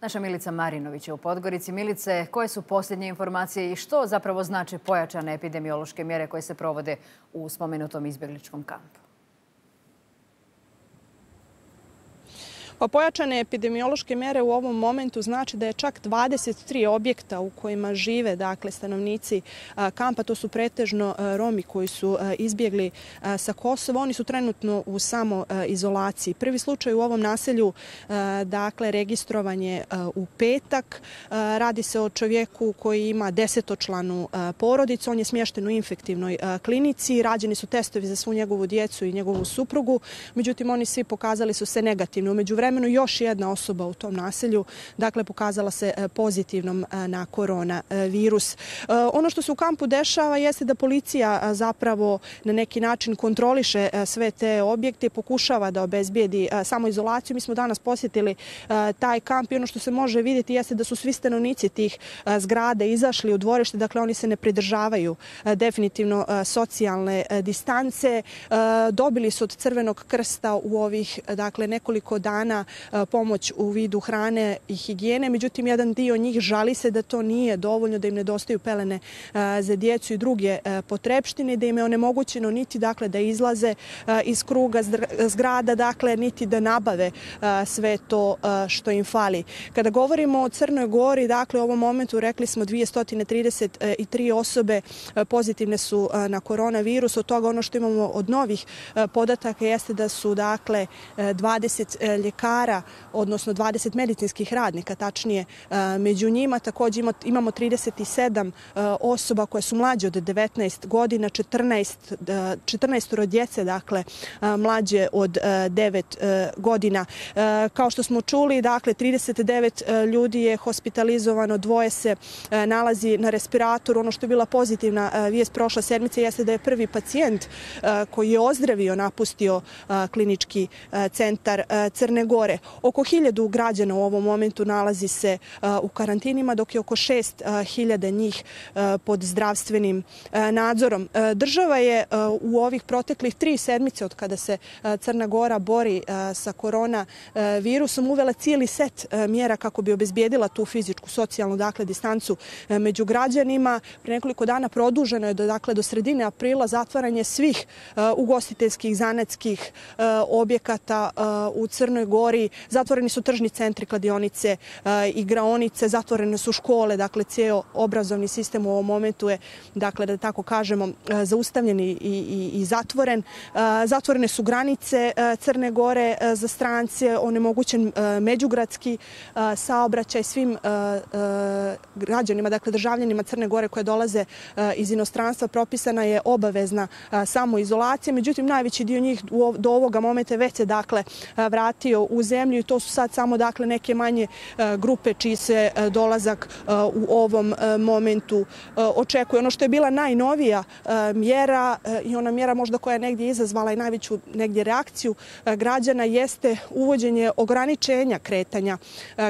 Naša Milica Marinović je u Podgorici. Milice, koje su posljednje informacije i što zapravo znači pojačane epidemiološke mjere koje se provode u spomenutom izbjegličkom kampu? Pojačane epidemiološke mjere u ovom momentu znači da je čak 23 objekta u kojima žive stanovnici kampa. To su pretežno Romi koji su izbjegli sa Kosova. Oni su trenutno u samoizolaciji. Prvi slučaj u ovom naselju registrovan je u petak. Radi se o čovjeku koji ima 10-članu porodicu. On je smješten u infektivnoj klinici. Rađeni su testovi za svu njegovu djecu i njegovu suprugu. Međutim, oni svi pokazali su se negativni. U međuvremenu još jedna osoba u tom naselju pokazala se pozitivnom na koronavirus. Ono što se u kampu dešava jeste da policija zapravo na neki način kontroliše sve te objekte i pokušava da obezbijedi samoizolaciju. Mi smo danas posjetili taj kamp i ono što se može vidjeti jeste da su svi stanovnici tih zgrada izašli u dvorište. Dakle, oni se ne pridržavaju definitivno socijalne distance. Dobili su od Crvenog krsta u ovih nekoliko dana pomoć u vidu hrane i higijene. Međutim, jedan dio njih žali se da to nije dovoljno, da im nedostaju pelene za djecu i druge potrepštine, da im je onemogućeno niti da izlaze iz kruga zgrada, niti da nabave sve to što im fali. Kada govorimo o Crnoj Gori, u ovom momentu rekli smo 233 osobe pozitivne su na koronavirus. Od toga ono što imamo od novih podataka jeste da su 20 ljekara, odnosno 20 medicinskih radnika, tačnije među njima. Također imamo 37 osoba koje su mlađe od 19 godina, 14 djece, mlađe od 9 godina. Kao što smo čuli, 39 ljudi je hospitalizovano, 2 se nalazi na respiratoru. Ono što je bila pozitivna vijest prošle sedmice jeste da je prvi pacijent koji je ozdravio napustio klinički centar Crne Gore. Oko 1000 građana u ovom momentu nalazi se u karantinima, dok je oko 6000 njih pod zdravstvenim nadzorom. Država je u ovih proteklih 3 sedmice od kada se Crna Gora bori sa koronavirusom uvela cijeli set mjera kako bi obezbijedila tu fizičku, socijalnu distancu među građanima. Pre nekoliko dana produženo je do sredine aprila zatvaranje svih ugostiteljskih, zanatskih objekata u Crnoj Gori. Zatvoreni su tržni centri, kladionice, igraonice, zatvorene su škole, cijel obrazovni sistem u ovom momentu je, da tako kažemo, zaustavljen i zatvoren. Zatvorene su granice Crne Gore za strance, onemogućen međugradski saobraćaj svim građanima, državljanima Crne Gore koje dolaze iz inostranstva. Propisana je obavezna samoizolacija, međutim najveći dio njih do ovoga momenta već se vratio u zemlju i to su sad samo neke manje grupe čiji se dolazak u ovom momentu očekuje. Ono što je bila najnovija mjera i ona mjera možda koja je negdje izazvala i najveću reakciju građana jeste uvođenje ograničenja kretanja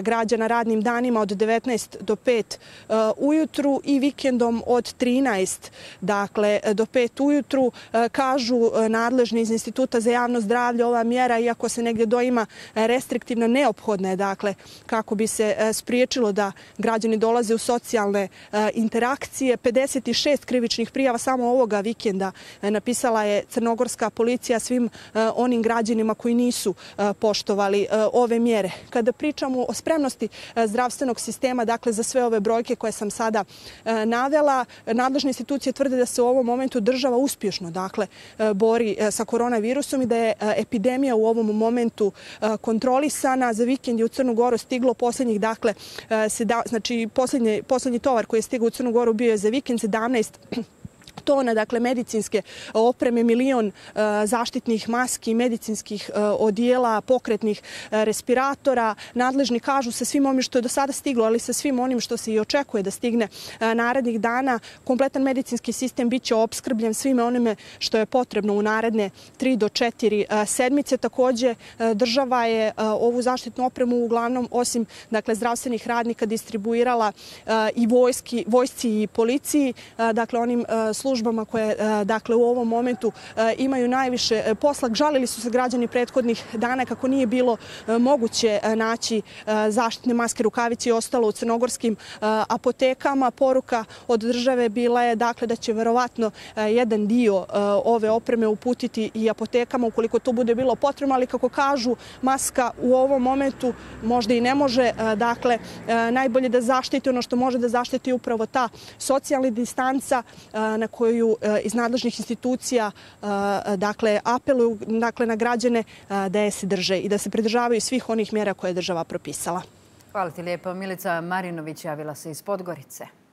građana radnim danima od 19 do 5 ujutru i vikendom od 13 do 5 ujutru. Kažu nadležni iz Instituta za javno zdravlje, ova mjera, iako se negdje doima restriktivna, neophodna je kako bi se spriječilo da građani dolaze u socijalne interakcije. 56 krivičnih prijava samo ovoga vikenda napisala je crnogorska policija svim onim građanima koji nisu poštovali ove mjere. Kada pričamo o spremnosti zdravstvenog sistema, za sve ove brojke koje sam sada navela, nadležne institucije tvrde da se u ovom momentu država uspješno bori sa koronavirusom i da je epidemija u ovom momentu kontrolisana. Za vikend je u Crnu Goru stiglo posljednjih, posljednji tovar koji je stigao u Crnu Goru bio je za vikend 17 tona, medicinske opreme, 1 milion zaštitnih maski, medicinskih odijela, pokretnih respiratora. Nadležni kažu sa svim onim što je do sada stiglo, ali sa svim onim što se i očekuje da stigne narednih dana, kompletan medicinski sistem biće opskrbljen svime onime što je potrebno u naredne 3 do 4 sedmice. Također, država je ovu zaštitnu opremu uglavnom, osim zdravstvenih radnika, distribuirala i vojsci i policiji, onim službama službama koje dakle, u ovom momentu imaju najviše posla. Žalili su se građani prethodnih dana kako nije bilo moguće naći zaštitne maske, rukavice i ostalo u crnogorskim apotekama. Poruka od države bila je dakle, da će verovatno jedan dio ove opreme uputiti i apotekama ukoliko to bude bilo potrebno, ali kako kažu, maska u ovom momentu možda i ne može, dakle, najbolje da zaštiti ono što može da zaštiti upravo ta socijalna distanca na koju iz nadležnih institucija dakle, apeluju dakle, na građane da je se drže i da se pridržavaju svih onih mjera koje je država propisala. Hvala ti lijepo. Milica Marinović javila se iz Podgorice.